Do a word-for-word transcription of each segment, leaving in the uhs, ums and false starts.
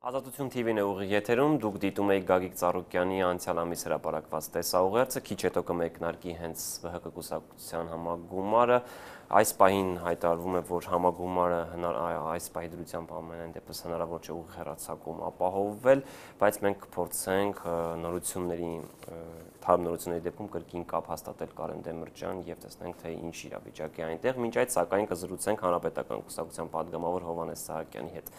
Ազատություն թիվին է ուղիղ եթերում, դուք դիտում եք Գագիկ Ծառուկյանի անցյալ ամիս հրապարակված տեսաուղերձը, քիչ հետո կմեկնարկի հենց ՎՀԿ կուսակցության համագումարը, այս պահին հայտարարվում է, որ համագումարը այս պահի դրությամբ ամենայն դեպս հնարավոր չէ ուղիղ հեռարձակում ապահովվել, բայց մենք կփորձենք նորությունների, թարմ նորությունների դեպքում կրկին կապ հաստատել Կարեն Դեմիրճյան եւ տեսնենք, թե ինչ իրավիճակ է այնտեղ, մինչ այդ սակայն կզրուցենք Հանրապետական կուսակցության падգամավոր Հովհաննես Սահակյանի հետ։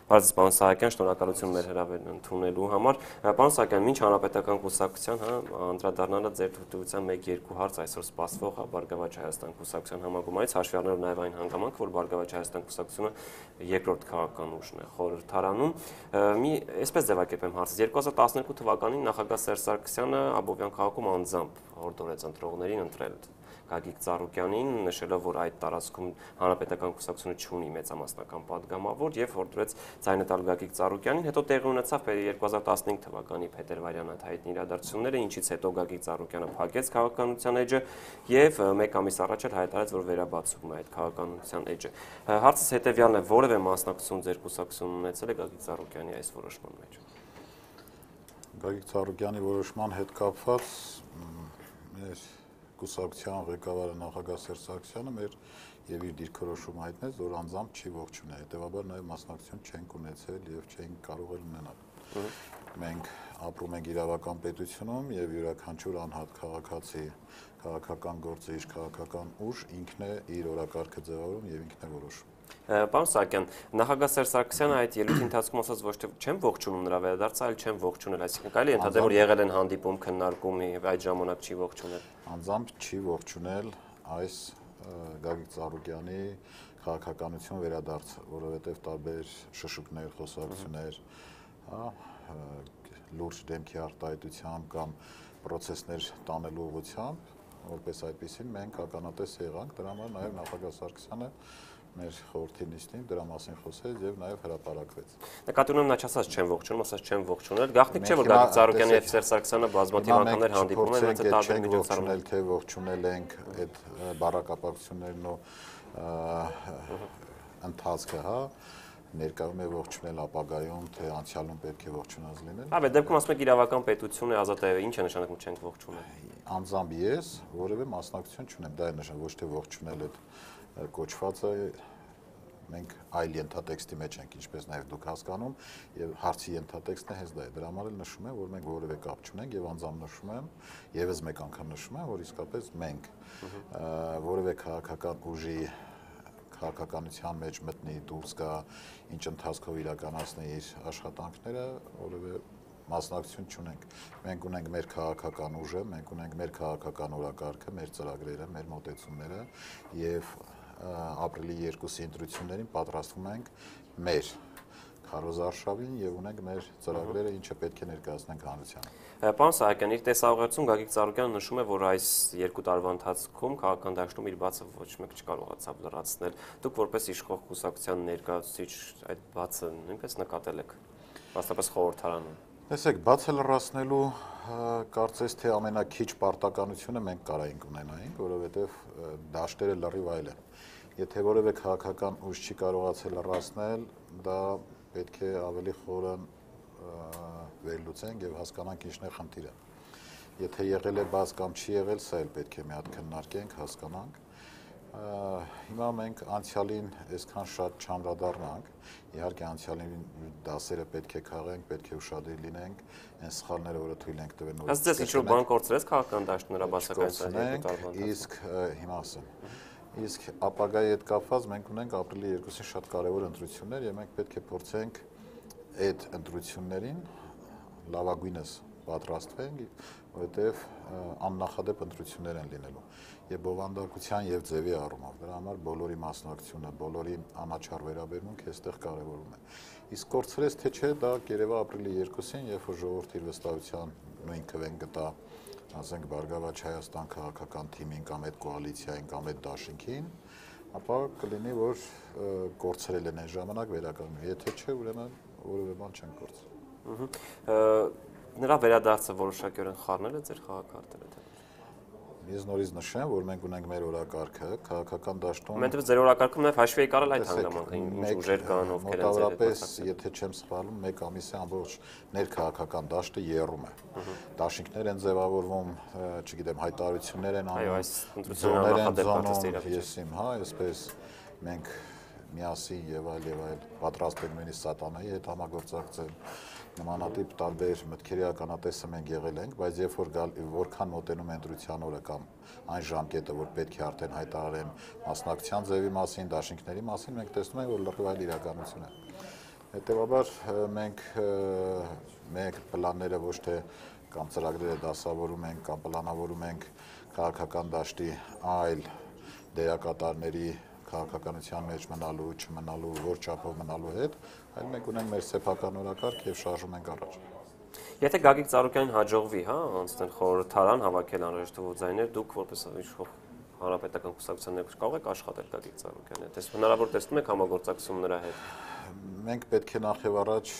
Պարզ պարոն Սահակյան, շնորհակալություն մեր հրավերն ընդունելու համար։ Պարոն Սահակյան, ինչ Հանրապետական կուսակցության, հա, անդրադառնալը ձեր թույլտվության մեկ-երկու հարց այսօր սպասվող Բարգավաճ Հայաստան կուսակցության համագումարից, հաշվի առնելով նաև այն հանգամանքը, որ Բարգավաճ Հայաստան կուսակցությունը երկրորդ քաղաքական ուժն է խորհրդարանում։ Մի այսպես ձևակերպեմ հարցը, երկու հազար տասներկու թվականին նախագահ Սերժ Սարգսյանը Աբովյան քաղաքում անձամբ հորդորեց ընտրողներին ընտրել Գագիկ Ծառուկյանին, նշելով, որ այդ տարածքում Հանրապետական կուսակցությունը չունի մեծամասնական падգամավոր եւ հորդորեց ձայնը տալ Գագիկ Ծառուկյանին, հետո տեղի ունեցավ երկու հազար տասնհինգ թվականի փետրվարյան այդ հայտնի իրադարձությունները, ինչից հետո Գագիկ Ծառուկյանը փակեց քաղաքականության էջը եւ մեկ ամիս առաջ էլ հայտարարեց, որ վերաբացում է այդ քաղաքականության էջը։ Հարցս հետեւյալն է, որևէ մասնակցություն ձեր կուսակցությունն ունեցել է Գագիկ Ծառուկյանի այս որոշման մեջ։ Գագիկ Ծառուկյանի որոշման հետ կապված մեր կուսակցության ղեկավարը նախագահ Սերժ Սարգսյանը մեր եւ իր դիրքորոշումը հայտնեց, որ անձամբ չի ողջունել, հետեւաբար նաեւ մասնակցություն չենք ունեցել եւ չենք կարող էլ ունենալ։ Մենք ապրում ենք իրավական պետությունում եւ յուրաքանչյուր անհատ քաղաքացի քաղաքական գործը իր քաղաքական ուժ ինքն է իր օրակարգը ձևավորում եւ ինքն է որոշում։ Պարոն Սահակյան, նախագահ Սերժ Սարգսյանը այդ ելույթի ընթացքում ասաց, ոչ թե չեմ ողջունում նրա վերադարձը, այլ չեմ ողջունել, այսինքն կարելի է ընդհանրել, որ եղել են հանդիպում, քննարկում եւ այդ ժամանակ չի ողջունել։ Անձամբ չի ողջունել այս Գագիկ Ծառուկյանի քաղաքականություն վերադարձը, որովհետեւ տարբեր շշուկներ, խոսակցություններ, հա, լուրջ դեմքի արտահայտությամբ կամ պրոցեսներ տանելու ուղղությամբ, որպես այդպեսին մենք ականատես եղանք, դրա համար նաեւ նախագահ Սարգսյանը մեր խորհրդի նիստին դրա մասին խոսեց եւ նաեւ հրապարակվեց։ Նկատի ունեմ նա չասաց չեմ ողջունում, ասաց չեմ ողջունել։ Գաղտնիք չէ, որ Գագիկ Ծառուկյանի հետ Սերժ Սարգսյանը բազմաթիվ անգամներ հանդիպում են, այնց տարբեր միջոցառումներ, թե ողջունել ենք այդ բարակապակցություններն ու ընթացքը, հա, ներկայում է ողջունել ապագայում, թե անցյալում պետք է ողջունած լինել։ Հա, բայց դեպքում ասում եք իրավական պետություն է, ազատ է, ինչ է նշանակում չենք ողջունել։ Անձամբ ես որևէ մասնակցություն չունեմ, դա է նշան, ոչ թե ողջունել այդ կոչվածը մենք այլ ենթատեքստի մեջ ենք, ինչպես նաև դուք հասկանում, եւ հարցի ենթատեքստն է հենց դա է։ Դրա համար էլ նշում եմ, որ մենք որևէ կապ չունենք եւ անձամբ նշում եմ, եւս մեկ անգամ նշում եմ, որ իսկապես մենք որևէ քաղաքական ուժի քաղաքականության մեջ մտնի, դուրս գա, ինչ ընթացքով իրականացնի իր աշխատանքները, որևէ մասնակցություն չունենք։ Մենք ունենք մեր քաղաքական ուժը, մենք ունենք մեր քաղաքական օրակարգը, մեր ծրագրերը, մեր մոտեցումները եւ ապրիլի երկուսի ընտրություններին պատրաստվում ենք մեր քարոզարշավին եւ ունենք մեր ծրագրերը, ինչը պետք է ներկայացնենք հանրությանը։ Պարոն Սահակյան, իր տեսաուղերձում Գագիկ Ծառուկյանը նշում է, որ այս երկու տարվա ընթացքում քաղաքական դաշտում իր բացը ոչ մեկ չկարողացավ լրացնել։ Դուք որպես իշխող կուսակցության ներկայացուցիչ այդ բացը նույնպես նկատել եք, մասնապես խորհրդարանում։ Տեսեք, բացը լրացնելու կարծես թե ամենակիչ պարտականությունը մենք կարայինք ունենայինք, որովհետեւ դաշտերը լրիվ այլ են։ Եթե որևէ քաղաքական ուժ չի կարողացել լրացնել, դա պետք է ավելի խորն վերլուծենք եւ հասկանանք ինչն է խնդիրը։ Եթե եղել է բաց կամ չի եղել, սա էլ պետք է մի հատ քննարկենք, հասկանանք։ Հիմա մենք անցյալին այսքան շատ չանդրադառնանք, իհարկե անցյալին դասերը պետք է քաղենք, պետք է ուշադիր լինենք, այն սխալները, որը թույլ ենք տվել նորից։ Ասես ինչ-որ բան կորցրեց քաղաքական դաշտում նրա բացակայության երկու տարվա ընթացքում։ Իսկ հիմա ասեմ, իսկ ապագայի հետ կապված մենք ունենք ապրիլի երկուսին շատ կարևոր ընտրություններ եւ մենք պետք է փորձենք այդ ընտրություններին լավագույնս պատրաստվենք, որովհետեւ աննախադեպ ընտրություններ են լինելու եւ բովանդակության եւ ձևի առումով։ Դրա համար բոլորի մասնակցությունը, բոլորի անաչառ վերաբերմունքը այստեղ կարևորում է։ Իսկ կորցրեց թե չէ, դա կերևա ապրիլի երկուսին, երբ որ ժողովրդի իր վստահության նույն քվեն գտա, ասենք Բարգավաճ Հայաստան քաղաքական թիմին կամ այդ կոալիցիային կամ այդ դաշինքին, ապա կլինի, որ կորցրել են այն ժամանակ վերականգնվի։ Եթե չէ, ուրեմն որևէ բան չեն կորցրել։ Նրա վերադարձը որոշակիորեն խառնել է ձեր խաղակարգերը։ Ես նորից նշեմ, որ մենք ունենք մեր օրակարգը, քաղաքական դաշտում։ Մենտեղ ձեր օրակարգում նաև հաշվի եկարել այդ հանգամանքը, ինչ ուժեր կան, ովքեր են ձեր հետ մոտավորապես, եթե չեմ սխալվում, մեկ ամիս է ամբողջ ներքաղաքական դաշտը եռում է։ Դաշինքներ են ձևավորվում, չգիտեմ, հայտարարություններ են անում, զոներ են զոնում, ես իմ, հա, այսպես մենք միասին եւ այլ եւ այլ պատրաստ ենք նույնիսկ սատանայի հետ համագործակցել, նմանատիպ տարբեր մտքերի ականատեսը մենք եղել ենք, բայց երբ որ որքան մոտենում է ընտրության օրը կամ այն ժամկետը, որ պետք է արդեն հայտարարեն մասնակցության ձևի մասին, դաշինքների մասին, մենք տեսնում ենք, որ լրիվ այլ իրականություն է։ Հետևաբար մենք մենք պլանները ոչ թե կամ ծրագրերը դասավորում ենք կամ պլանավորում ենք քաղաքական դաշտի այլ դերակատարների քաղաքականության մեջ մնալու, չմնալու, որ չափով մնալու հետ, այլ մենք ունենք մեր սեփական օրակարգ եւ շարժում ենք առաջ։ Եթե Գագիկ Ծառուկյանին հաջողվի, հա, անցնել խորհրդարան, հավաքել անհրաժեշտ ձայներ, դուք որպես իշխող հանրապետական կուսակցության ներկայ կարող եք աշխատել Գագիկ Ծառուկյանի հետ։ Դες հնարավոր տեսնում եք համագործակցություն նրա հետ։ Մենք պետք է նախ եւ առաջ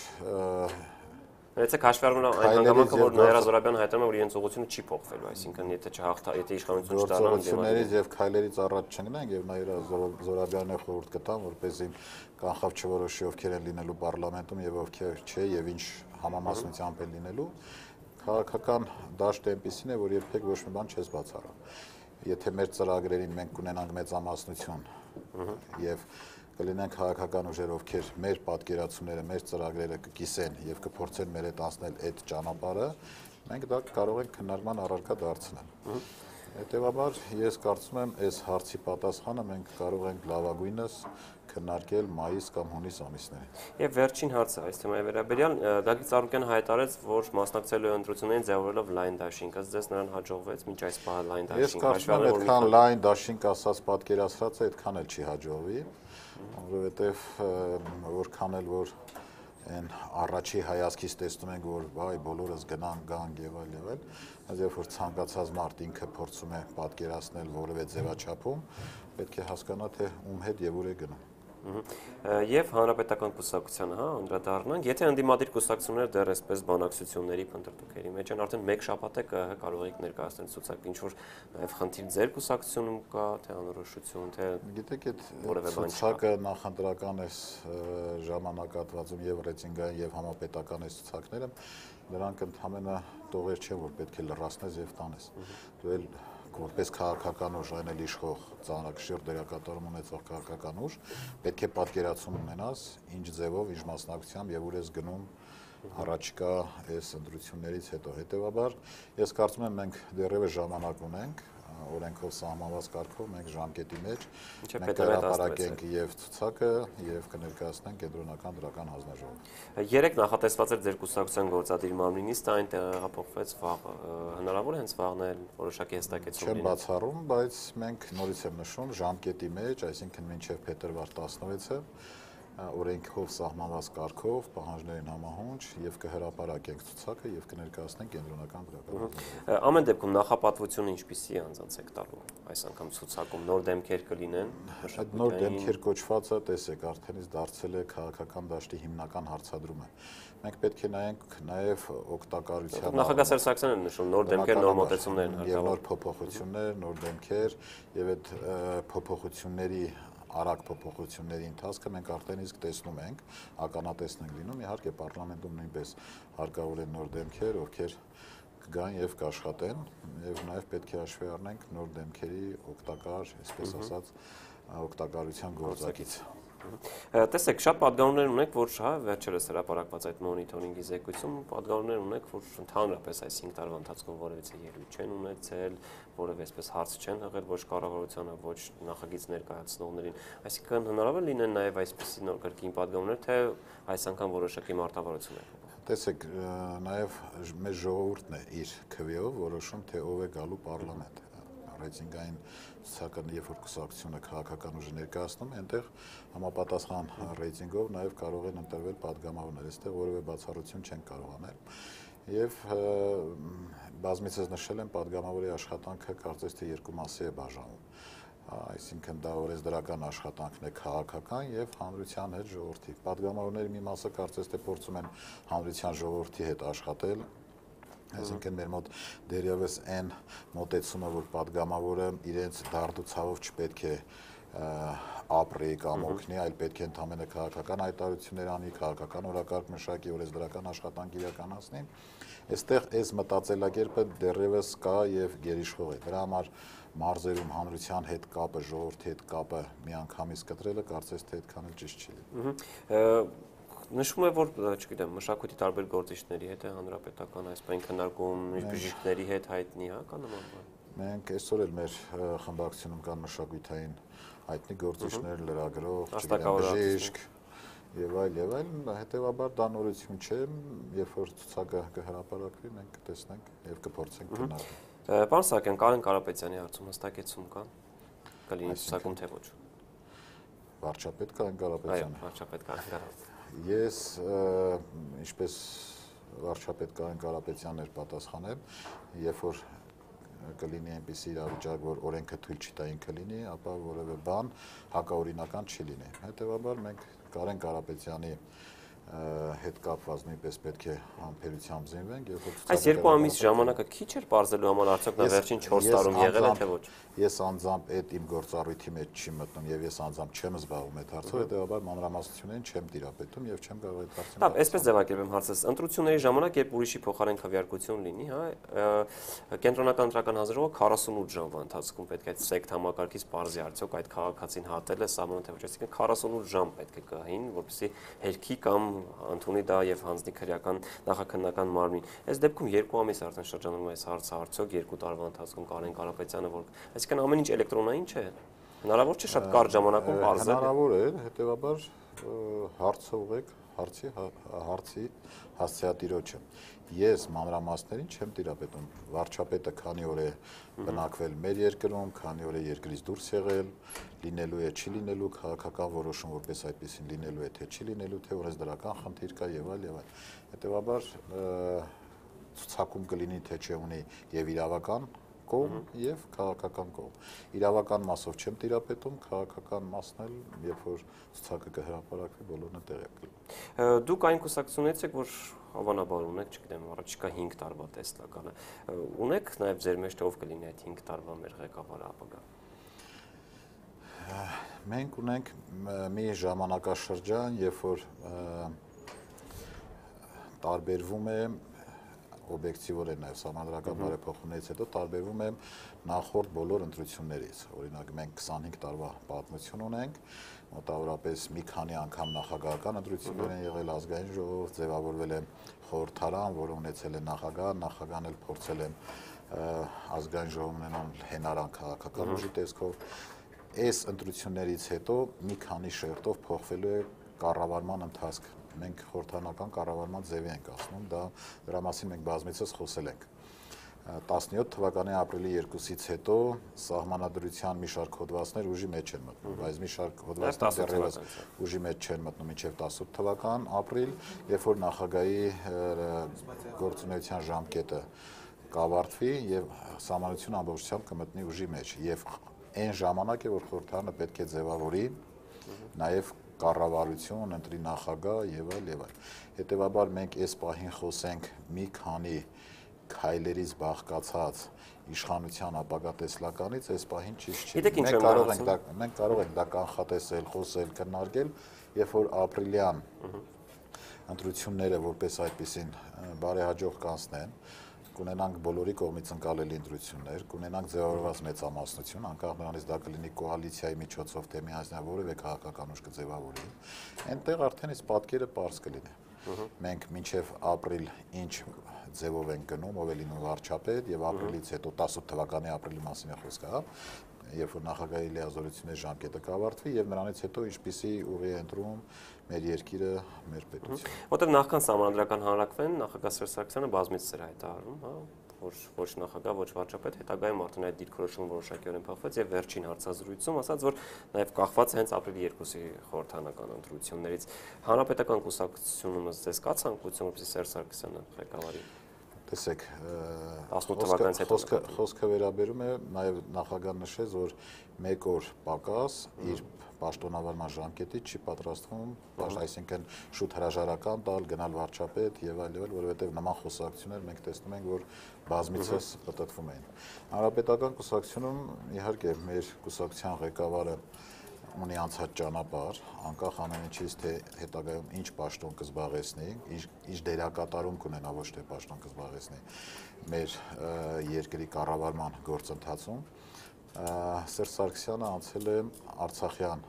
Եթե հաշվի առնում այն հանգամանքը, որ Նաիրա Զոհրաբյանը հայտարարում է, որ իրենց ուղղությունը չի փոխվելու, այսինքն եթե չհաղթա, եթե իշխանություն չդառնա, գործողություններից եւ քայլերից առաջ չգնանք եւ Նաիրա Զոհրաբյանը խորհուրդ կտան, որպեսզի կանխավ չորոշի ովքեր են լինելու պարլամենտում եւ ովքեր չէ եւ ինչ համամասնությամբ են լինելու, քաղաքական դաշտը այնպեսին է, որ երբեք ոչ մի բան չես բացառա։ Եթե մեր ծրագրերին մենք կունենանք մեծամասնություն եւ կլինեն քաղաքական ուժեր, ովքեր մեր պատկերացումները, մեր ծրագրերը կկիսեն եւ կփորձեն մեր հետ անցնել այդ ճանապարհը, մենք դա կարող ենք քննարկման առարկա դարձնել։ Հետևաբար ես կարծում եմ, այս հարցի պատասխանը մենք կարող ենք լավագույնս քննարկել մայիս կամ հունիս ամիսներին։ Եվ վերջին հարցը այս թեմայի վերաբերյալ Գագիկ Ծառուկյանը հայտարարեց, որ մասնակցելու է ընտրություններին ձևավորելով լայն դաշինք, ըստ ձեզ նրան հաջողվեց մինչ այս պահը լայն դաշինք։ Ես կարծում եմ, այդքան լայն դաշինք ասած պատկերացրած է, այդքան էլ չի հաջողվի, որովհետև որքան էլ որ այն առաջի հայացքից տեսնում ենք, որ վայ բոլորս գնան, գան եւ այլ եւ այլ, բայց երբ որ ցանկացած մարդ ինքը փորձում է պատկերացնել որևէ ձևաչափում, պետք է հասկանա, թե ում հետ եւ ուր է գնում։ Եվ հանրապետական կուսակցությանը, հա, անդրադառնանք, եթե ընդդիմադիր կուսակցությունները դեռ այսպես բանակցությունների փնտրտուքերի մեջ են, արդեն մեկ շաբաթ է կարող եք ներկայացնել ցուցակ, ինչ որ նաև խնդիր ձեր կուսակցությունում կա, թե անորոշություն, թե գիտեք, այդ ցուցակը նախընտրական է ժամանակատվածում եւ ռեյտինգային եւ համապետական է ցուցակները, նրանք ընդհանրապես տողեր չեն, որ պետք է լրացնես եւ տանես։ Դու էլ որպես քաղաքական ուժ, այն էլ իշխող ծանրակշիռ դերակատարում ունեցող քաղաքական ուժ, պետք է պատկերացում ունենաս, ինչ ձևով, ինչ մասնակցությամբ եւ ուր ես գնում առաջիկա այս ընտրություններից հետո։ Հետևաբար, ես կարծում եմ, մենք դեռևս ժամանակ ունենք, օրենքով սահմանված կարգով մենք ժամկետի մեջ մենք հրապարակենք եւ ցուցակը եւ կներկայացնենք կենտրոնական դրական հանձնաժողով։ Երեք նախատեսված էր ձեր կուսակցության գործադիր մարմնի նիստը, այն տեղափոխվեց վաղ, հնարավոր է հենց վաղն էլ որոշակի հստակեցում լինի։ Չեմ բացառում, բայց մենք նորից եմ նշում ժամկետի մեջ, այսինքն մինչեւ փետրվար տասնվեցը օրենքով սահմանված կարգով պահանջներին համահունչ եւ կհրապարակենք ցուցակը եւ կներկայացնենք կենտրոնական դրական։ Ամեն դեպքում նախապատվությունը ինչպիսի է անձանց եք տալու այս անգամ ցուցակում նոր դեմքեր կլինեն։ Այդ նոր դեմքեր կոչվածը, տեսեք, արդենից դարձել է քաղաքական դաշտի հիմնական հարցադրումը։ Մենք պետք է նայենք նաեւ օգտակարության։ Նախագահ Սերժ Սարգսյանն է նշում նոր դեմքեր, նոր մոտեցումներ են հարկավոր։ Նոր փոփոխություններ, նոր դեմքեր եւ այդ փոփոխությունների արագ փոփոխությունների ընթացքը մենք արդեն իսկ տեսնում ենք, ականատեսն ենք լինում, իհարկե պարլամենտում նույնպես հարկավոր են նոր դեմքեր, ովքեր կգան եւ կաշխատեն, եւ նաեւ պետք է հաշվի առնենք նոր դեմքերի օգտակար, այսպես ասած, օգտակարության գործակից։ Տեսեք, շատ պատգամներ ունեք, որ հա վերջերս հրապարակված այդ մոնիթորինգի զեկույցում պատգամներ ունեք, որ ընդհանրապես այս հինգ տարվա ընթացքում որևէ ելույթ չեն ունեցել, որևէ այսպես հարց չեն հղել ոչ կառավարությանը, ոչ նախագիծ ներկայացնողներին։ Այսինքն հնարավոր լինեն նաև այսպիսի նոր կրկին պատգամներ, թե այս անգամ որոշակի մարտավարություն է։ Տեսեք, նաև մեր ժողովուրդն է իր քվեով որոշում, թե ով է գալու պարլամենտ։ Ռեյտինգային ցուցակը, երբ որ կուսակցությունը քաղաքական ուժը ներկայացնում, այնտեղ համապատասխան ռեյտինգով նաև կարող են ընտրվել պատգամավորներ, այստեղ որևէ բացառություն չեն կարող անել։ Եվ բազմիցս նշել եմ, պատգամավորի աշխատանքը կարծես թե երկու մասի է բաժանվում։ Այսինքն դա օրենսդրական աշխատանքն է քաղաքական եւ հանրության հետ ժողովրդի։ Պատգամավորների մի մասը կարծես թե փորձում են հանրության ժողովրդի հետ աշխատել Այսինքն մեր մոտ դերևս այն մոտեցումը, որ падգամավորը իրենց դարդուցավով չպետք է ապրի կամ օգնի, այլ պետք է ընդհանրապես քաղաքական հայտարարություններ անի, քաղաքական օրակարգ մշակի, օրենսդրական աշխատանք իրականացնի։ Այստեղ այս մտածելակերպը դեռևս կա եւ գերիշխող է։ Դրա համար մարզերում հանրության հետ կապը, ժողովրդի հետ կապը միանգամից կտրելը կարծես թե այդքան էլ ճիշտ չի։ Նշվում է, որ, չգիտեմ, մշակույթի տարբեր գործիչների հետ է հանրապետական այս բան քննարկում, բժիշկների հետ հայտնի, հա, կա նման բան։ Մենք այսօր էլ մեր խմբակցությունում կան մշակույթային հայտնի գործիչներ, լրագրող, բժիշկ եւ այլ եւ այլ, հետեւաբար դա նորություն չէ, երբ որ ցուցակը կհրապարակվի, մենք կտեսնենք եւ կփորձենք քննարկել։ Պարոն Սահակյան, Կարեն Կարապետյանի հարցում հստակեցում կա։ Կլինի ցուցակում թե ոչ։ Վարչապետ Կարեն Կարապետյանը։ Այո, վարչապետ Կարեն Կարապետյանը։ Ես ինչպես վարչապետ Կարեն Կարապետյանն էր պատասխանել, երբ որ կլինի այնպիսի իրավիճակ, որ օրենքը թույլ չի տա ինքը լինի, ապա որևէ բան հակաօրինական չի լինի։ Հետևաբար մենք Կարեն Կարապետյանի հետ կապված նույնպես պետք է համբերությամբ զինվենք եւ այս երկու ամիս ժամանակը քիչ էր բարձելու համար արդյոք նա վերջին չորս տարում եղել է թե ոչ։ Ես անձամբ այդ իմ գործառույթի մեջ չի մտնում եւ ես անձամբ չեմ զբաղվում այդ հարցով, հետեւաբար մանրամասնություններին չեմ տիրապետում եւ չեմ կարող այդ հարցին։ Լավ, այսպես ձևակերպեմ հարցս։ Ընտրությունների ժամանակ, երբ ուրիշի փոխարեն քվեարկություն լինի, հա, կենտրոնական ընտրական հանձնաժողովը քառասունութ ժամվա ընթացքում պետք է այդ սեկտ համակարգից բարձի արդյոք այդ քաղաքացին հատել է սահմանը թե ոչ, այսինքն քառասունութ ժամ պետք է գահին, որպեսզի հերքի կամ ընդունի դա եւ հանձնի քրեական նախաքննական մարմին։ Այս դեպքում երկու ամիս արդեն շրջանում է այս հարցը, արդյոք երկու տարվա ընթացքում Կարեն Կարապետյանը, որ այսինքն ամեն ինչ էլեկտրոնային չէ։ Հնարավոր չէ շատ կարճ ժամանակում բարձել։ Հնարավոր է, հետեւաբար հարցը ուղեք հարցի հարցի հասցեատիրոջը։ Ես մանրամասներին չեմ տիրապետում։ Վարչապետը քանի օր է բնակվել մեր երկրում, քանի օր է երկրից դուրս եղել, լինելու է, չի լինելու քաղաքական որոշում, որպես այդպեսին լինելու է, թե չի լինելու, թե օրենսդրական խնդիր կա եւ այլ եւ այլ։ Հետեւաբար ցուցակում կլինի, թե չէ ունի եւ իրավական կողմ եւ քաղաքական կողմ։ Իրավական մասով չեմ տիրապետում, քաղաքական մասն էլ, երբ որ ցուցակը կհրապարակվի, բոլորն է տեղյակ կլինի։ Դուք այն կուսակցությունից եք, որ հավանաբար ունեք, չգիտեմ, առաջիկա հինգ տարվա տեսլականը։ Ունեք նաեւ ձեր մեջ ով կլինի այդ հինգ տարվա մեր ղեկավարը ապագա։ Մենք ունենք մի ժամանակաշրջան, երբ որ տարբերվում է օբյեկտիվորեն նաև սահմանադրական բարեփոխումներից հետո տարբերվում է նախորդ բոլոր ընտրություններից։ Օրինակ մենք քսանհինգ տարվա պատմություն ունենք, մոտավորապես մի քանի անգամ նախագահական ընտրություններ են եղել, ազգային ժողով, ձևավորվել է խորհրդարան, որը ունեցել է նախագահ, նախագահն էլ փորձել է ազգային ժողովն ունենալ հենարան քաղաքական ուժի տեսքով։ Այս ընտրություններից հետո մի քանի շերտով փոխվելու է կառավարման ընթացք։ Մենք խորհրդարանական կառավարման ձևի ենք ասում, դա դրա մասին մենք բազմիցս խոսել ենք։ տասնյոթ թվականի ապրիլի երկուսից հետո սահմանադրության մի շարք հոդվածներ ուժի մեջ են մտնում, բայց մի շարք հոդվածներ դեռևս ուժի մեջ չեն մտնում մինչև տասնութ թվական ապրիլ, երբ որ նախագահի գործունեության ժամկետը կավարտվի եւ սահմանադրությունը ամբողջությամբ կմտնի ուժի մեջ եւ այն ժամանակ է, որ խորհրդարանը պետք է ձևավորի նաեւ կառավարություն, ընտրի նախագահ եւ այլ եւ այլ։ Հետեւաբար մենք այս պահին խոսենք մի քանի քայլերից բաղկացած իշխանության ապագա տեսլականից, այս պահին ճիշտ չի։ Մենք կարող ենք դա մենք կարող ենք դա կանխատեսել, խոսել, քննարկել, երբ որ ապրիլյան ընտրությունները որպես այդպեսին բարեհաջող կանցնեն, կունենանք բոլորի կողմից ընկալելի ընտրություններ, կունենանք ձևավորված մեծամասնություն, անկախ նրանից դա կլինի կոալիցիայի միջոցով, թե միասնական որևէ քաղաքական ուժ կձևավորի, այնտեղ արդեն իսկ պատկերը պարզ կլինի։ Մենք մինչև ապրիլ ինչ ձևով ենք գնում, ով է լինում վարչապետ եւ ապրիլից հետո տասնութ թվականի ապրիլի մասին է խոսքը, հա, երբ որ նախագահի լիազորությունների ժամկետը կավարտվի եւ նրանից հետո ինչպիսի ուղի է ընտրում մեր երկիրը, մեր պետությունը։ Որտեղ նախքան սահմանադրական հանրակրվեն, նախագահ Սերժ Սարգսյանը բազմից էր հայտարարում, հա, որ ոչ նախագահ, ոչ վարչապետ, հետագայում արդեն այդ դիրքորոշումը որոշակիորեն փոխվեց եւ վերջին հարցազրույցում ասաց, որ նաեւ կախված է հենց ապրիլի երկուսի խորհրդարանական ընտրություններից։ Հանրապետական կուսակցությունում ձեզ կա ցանկություն, որպեսզի Սերժ Սարգսյանը ղեկավարի։ տեսեք, խոսքը խոսքը վերաբերում է նաև նախագահն նշեց, որ մեկ օր պակաս իր պաշտոնավարման ժամկետից չի պատրաստվում, այսինքն շուտ հրաժարական տալ, գնալ վարչապետ եւ այլ եւ այլ, որովհետեւ նման խոսակցություններ մենք տեսնում ենք, որ բազմիցս պատտվում էին։ Հանրապետական կուսակցությունում իհարկե մեր կուսակցության ղեկավարը ունի անցած ճանապարհ, անկախ ամեն ինչից, թե հետագայում ինչ պաշտոն կզբաղեցնի, ինչ դերակատարում կունենա, ոչ թե պաշտոն կզբաղեցնի մեր երկրի կառավարման գործընթացում, Սերժ Սարգսյանը անցել է Արցախյան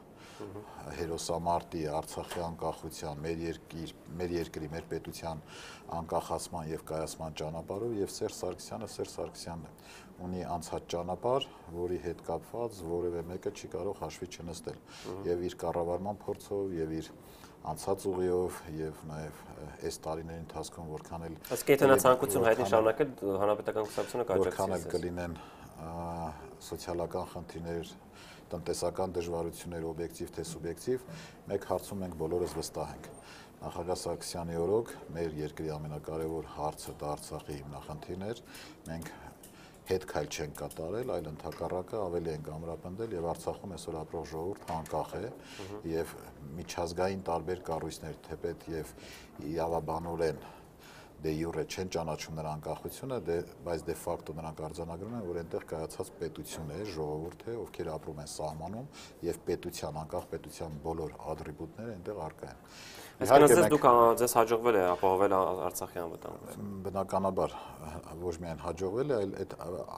հերոսամարտի, Արցախի անկախության, մեր երկիր, մեր երկրի, մեր պետության անկախացման եւ կայացման ճանապարհով եւ Սերժ Սարգսյանը Սերժ Սարգսյանն է, ունի անցած ճանապարհ, որի հետ կապված որևէ մեկը չի կարող հաշվի չնստել եւ իր կառավարման փորձով եւ իր անցած ուղիով եւ նաեւ այս տարիների ընթացքում որքան էլ Իսկ եթե նա ցանկություն հայտնի շարունակել հանրապետական կուսակցությունը կաջակցի որքան էլ կլինեն սոցիալական խնդիրներ, տնտեսական դժվարություններ, օբյեկտիվ թե սուբյեկտիվ, մեկ հարցում մենք բոլորս վստահ ենք։ Նախագահ Սարգսյանի օրոք մեր երկրի ամենակարևոր հարցը դա Արցախի հիմնախնդիրն էր, մենք հետ քայլ չենք կատարել, այլ ընդհակառակը ավելի ենք ամրապնդել եւ Արցախում այսօր ապրող ժողովուրդը անկախ է եւ միջազգային տարբեր կառույցներ թեպետ եւ իրավաբանորեն դե յուրե չեն ճանաչում նրա անկախությունը, դե բայց դե ֆակտո նրանք արձանագրում են, որ այնտեղ կայացած պետություն է, ժողովուրդ է, ովքեր ապրում են սահմանում եւ պետության, անկախ պետության բոլոր ատրիբուտները այնտեղ առկա են։ Այսինքն դուք ձեզ հաջողվել է ապահովել Արցախի անվտանգությունը։ Բնականաբար ոչ միայն հաջողվել է, այլ այդ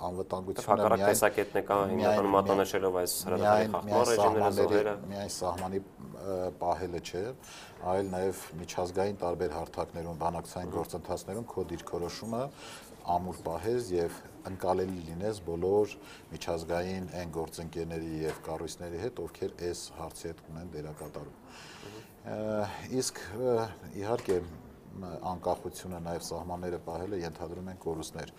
անվտանգությունը միայն տեսակետն է կա հիմնականում մատնանշելով այս հրադադարի խախտման ռեժիմները, զոհերը, միայն սահմանի պահելը չէ, այլ նաև միջազգային տարբեր հարթակներում, բանակցային գործընթացներում քո դիրքորոշումը ամուր պահես եւ ընկալելի լինես բոլոր միջազգային այն գործընկերների եւ կառույցների հետ, ովքեր այս հարցի հետ ունեն դերակատարում։ Իսկ իհարկե անկախությունը նաև սահմանները պահելը ենթադրում են կորուստներ։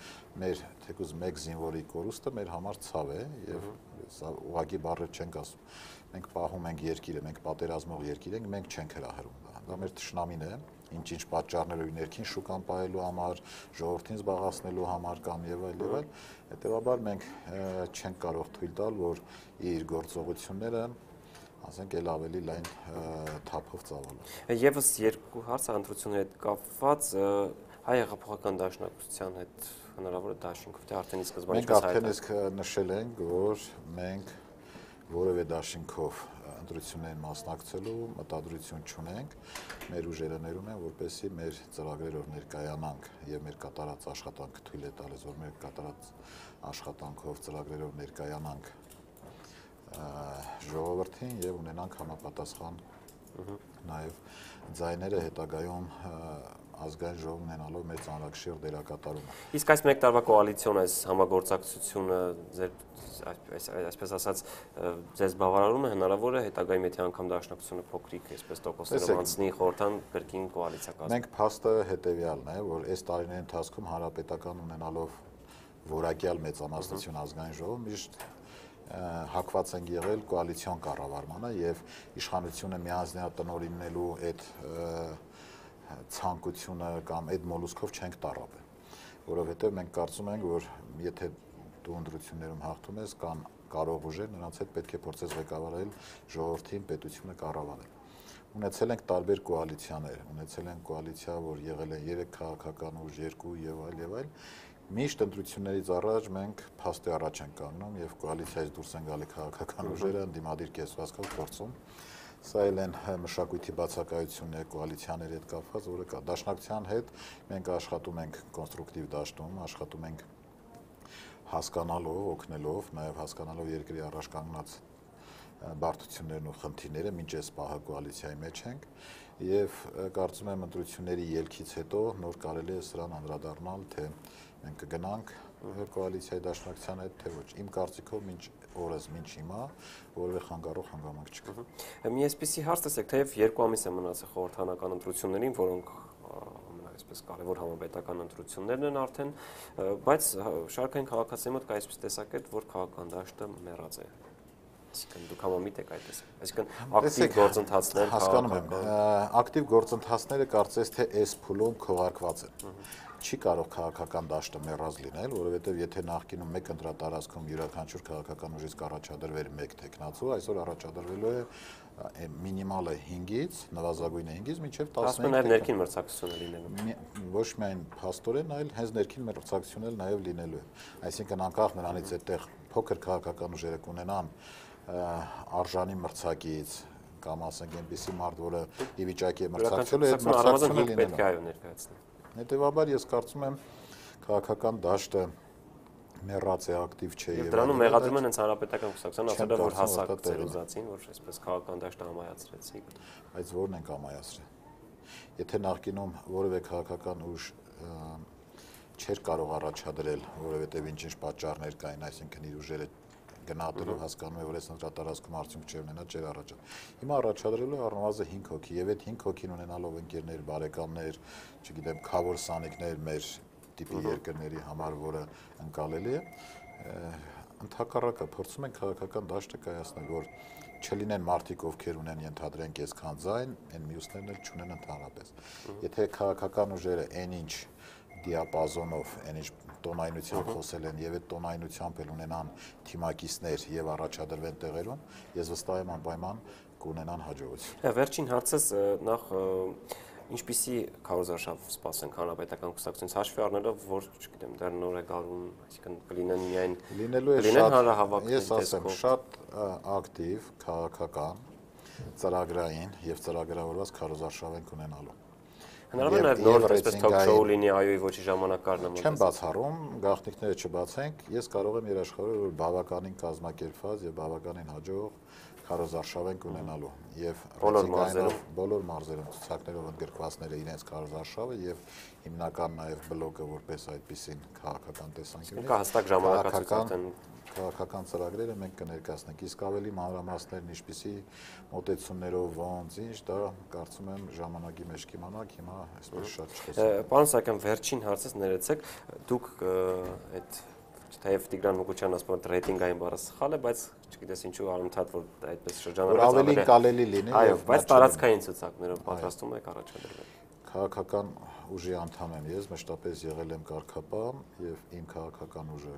Մեր թեկուզ մեկ զինվորի կորուստը մեր համար ցավ է եւ սա ուղղակի բառը չենք ասում։ Մենք պահում ենք երկիրը, մենք պատերազմող երկիր ենք, մենք չենք հրահրում դա։ Դա մեր թշնամին է, ինչ-ինչ պատճառներով ներքին շուկան պահելու համար, ժողովրդին զբաղացնելու համար կամ եւ այլ եւ այլ։ Հետեւաբար մենք չենք կարող թույլ տալ, որ իր գործողությունները ասենք էլ ավելի լայն թափով ծավալվի։ Եվս երկու հարց ընտրությունների հետ կապված հայ հեղափոխական դաշնակցության հետ հնարավոր է դաշինքով թե արդեն իսկ սկզբանից մենք արդեն իսկ նշել ենք, որ մենք որևէ դաշինքով ընտրություններին մասնակցելու մտադրություն չունենք, մեր ուժերը ներում են, որպեսզի մեր ծրագրերով ներկայանանք եւ մեր կատարած աշխատանքը թույլ է տալիս, որ մեր կատարած աշխատանքով ծրագրերով ներկայանանք ժողովրդին եւ ունենանք համապատասխան նաեւ ձայները հետագայում ազգային ժողով ունենալով մեր ծանրակշիռ դերակատարումը։ Իսկ այս մեկ տարվա կոալիցիոն այս համագործակցությունը ձեր այսպես ասած ձեզ բավարարում է, հնարավոր է հետագայում եթե անգամ դաշնակցությունը փոքրիկ այսպես տոկոսներով անցնի խորհրդան կրկին կոալիցիա կազմի։ Մենք փաստը հետեւյալն է, որ այս տարիների ընթացքում հանրապետական ունենալով որակյալ մեծամասնություն ազգային ժողով միշտ հակված են եղել կոալիցիոն կառավարմանը եւ իշխանությունը միանձնյատնօրինելու այդ ցանկությունը կամ այդ մոլուսկով չենք տառապել, որովհետեւ մենք կարծում ենք, որ եթե դու ընտրություններում հաղթում ես կամ կարող ուժեր, նրանց հետ պետք է փորձես ղեկավարել ժողովրդին, պետությունը կառավարել։ Ունեցել ենք տարբեր կոալիցիաներ, ունեցել ենք կոալիցիա, որ եղել են երեք քաղաքական ուժ, երկու եւ այլ եւ այլ։ Միշտ ընտրություններից առաջ մենք փաստի առաջ ենք կանգնում եւ կոալիցիայից դուրս են գալի քաղաքական ուժերը ընդդիմադիր կեսվածքով փորձում։ Սա էլ են մշակույթի բացակայությունն է կոալիցիաների հետ կապված, որը կա։ Դաշնակցության հետ մենք աշխատում ենք կոնստրուկտիվ դաշտում, աշխատում ենք հասկանալով, օգնելով, նաեւ հասկանալով երկրի առաջ կանգնած բարդություններն ու խնդիրները, մինչ այս պահը կոալիցիայի մեջ ենք եւ կարծում եմ ընտրությունների ելքից հետո նոր կարելի է սրան անդրադառնալ, թե մենք կգնանք կոալիցիայի դաշնակցության հետ, թե ոչ։ Իմ կարծիքով մինչ օրս մինչ հիմա որևէ խանգարող հանգամանք չկա։ Մի այսպիսի հարց տեսեք, թեև երկու ամիս է մնացել խորհրդանական ընտրություններին, որոնք այսպես կարևոր համապետական ընտրություններն են արդեն, բայց շարքային քաղաքացիների մոտ կա այսպես տեսակետ, որ քաղաքական դաշտը մեռած է։ Այսինքն դուք համամիտ եք այդպես։ Այսինքն ակտիվ գործընթացներ հասկանում եմ։ Ակտիվ գործընթացները կարծես թե այս փուլում քողարկված են։ Չի կարող քաղաքական դաշտը մեռած լինել, որովհետև եթե նախկինում մեկ ընտրատարածքում յուրաքանչյուր քաղաքական ուժից կառաջադրվեր մեկ տեխնացու, այսօր առաջադրվելու է մինիմալը հինգից, նվազագույնը հինգից մինչև տասնհինգ։ Ասում են ներքին մրցակցություն է լինելու։ Ոչ միայն փաստորեն, այլ հենց ներքին մրցակցությունն էլ նաև լինելու է։ Այսինքն անկախ նրանից այդտեղ փոքր քաղաքական ուժերը կունենան արժանի մրցակից կամ ասենք այնպիսի մարդ, որը ի վիճակի է մրցակցելու, այդ մրցակցությունը պետք է այո ներկայացնել։ Հետևաբար ես կարծում եմ քաղաքական դաշտը մեռած է, ակտիվ չէ եւ դրանում մեղադրում են հենց հանրապետական կուսակցության ասել որ հասակ ծերուզացին, որ այսպես քաղաքական դաշտը համայացրեցին։ Բայց ո՞րն են համայացրել։ Եթե նախկինում որևէ քաղաքական ուժ չէր կարող առաջադրել, որովհետեւ ինչ-ինչ պատճառներ կային, այսինքն իր ուժերը գնահատելով հասկանում է, որ այս ընտրատարածքում արդյունք չի ունենա, չէր առաջադրել։ Հիմա առաջադրելու առնվազն հինգ հոգի եւ այդ հինգ հոգին ունենալով ընկերներ, բարեկամներ, չգիտեմ, խավոր սանիկներ մեր տիպի երկրների համար, որը ընկալելի է, ընդհակառակը փորձում են քաղաքական դաշտը կայացնել, որ չլինեն մարդիկ, ովքեր ունեն ենթադրենք այսքան ձայն, այն մյուսներն էլ չունեն ընդհանրապես։ Եթե քաղաքական ուժերը այնինչ դիապազոնով, այնինչ տոնայնությամբ խոսել են եւ այդ տոնայնությամբ էլ ունենան թիմակիցներ եւ առաջադրվեն տեղերում, ես վստահ եմ անպայման կունենան հաջողություն։ Վերջին հարցս նախ ինչպիսի քարոզարշավ սպասենք հանրապետական կուսակցությունից հաշվի առնելով, որ, չգիտեմ, դեռ նոր է գալուն, այսինքն կլինեն միայն լինելու է շատ, ես ասեմ, շատ ակտիվ քաղաքական, ծրագրային եւ ծրագրավորված քարոզարշավ են ունենալու։ Հնարավոր է նոր այսպես թոք-շոու լինի այոյի ոչի ժամանակարն Չեմ բացառում, գաղտնիքները չբացենք, ես կարող եմ երաշխավորել, որ բավականին կազմակերպված եւ բավականին հաջող քարոզարշավ են ունենալու եւ բոլոր մարզերում ցուցակներով ընդգրկվածները իրենց քարոզարշավը եւ հիմնական նաեւ բլոկը որպես այդպեսին քաղաքական տեսանկյունից կա հստակ ժամանակացույց քաղաքական ծրագրերը մենք կներկայացնենք, իսկ ավելի մանրամասներն ինչպիսի մոտեցումներով ոնց ինչ դա կարծում եմ ժամանակի մեջ կիմանանք, հիմա այսպես շատ չխոսենք։ Պարոն Սահակյան, վերջին հարցս ներեցեք, դուք այդ թեև Տիգրան Մուկուչյանն ասում է ռեյտինգային բառը սխալ է, բայց չգիտես ինչու անընդհատ որ այդպես շրջանառված ավելի կարելի լինի, այո, բայց տարածքային ցուցակներով պատրաստում եք առաջադրվել։ Քաղաքական ուժի անդամ եմ ես, մշտապես եղել եմ կարգապահ եւ իմ քաղաքական ուժը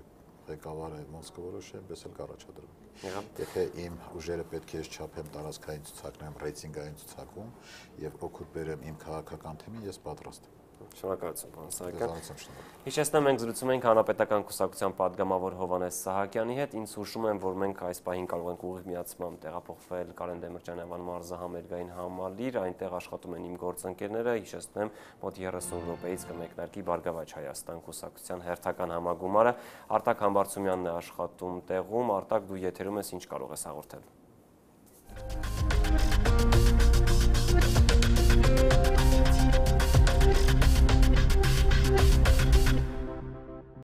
ղեկավարը ոնց կորոշի, այնպես էլ կառաջադրվի։ Եթե իմ ուժերը պետք է չափեմ տարածքային ցուցակներում, ռեյտինգային ցուցակում եւ օգուտ բերեմ իմ քաղաքական թիմին, ես պատրաստ եմ։ Շնորհակալություն, պարոն Սահակյան։ Հիշեցնեմ, մենք զրուցում ենք Հանրապետական կուսակցության պատգամավոր Հովհաննես Սահակյանի հետ։ Ինձ հուշում եմ, որ մենք այս պահին կարող ենք ուղիղ միացմամբ տեղափոխվել Կարեն Դեմիրճանյան մարզահամերգային համալիր, այնտեղ աշխատում են իմ գործընկերները, հիշեցնեմ, մոտ երեսուն րոպեից կմեկնարկի Բարգավաճ Հայաստան կուսակցության հերթական համագումարը։ Արտակ Համբարձումյանն է աշխատում տեղում, Արտակ, դու եթերում ես, ինչ կարող ես հաղորդել։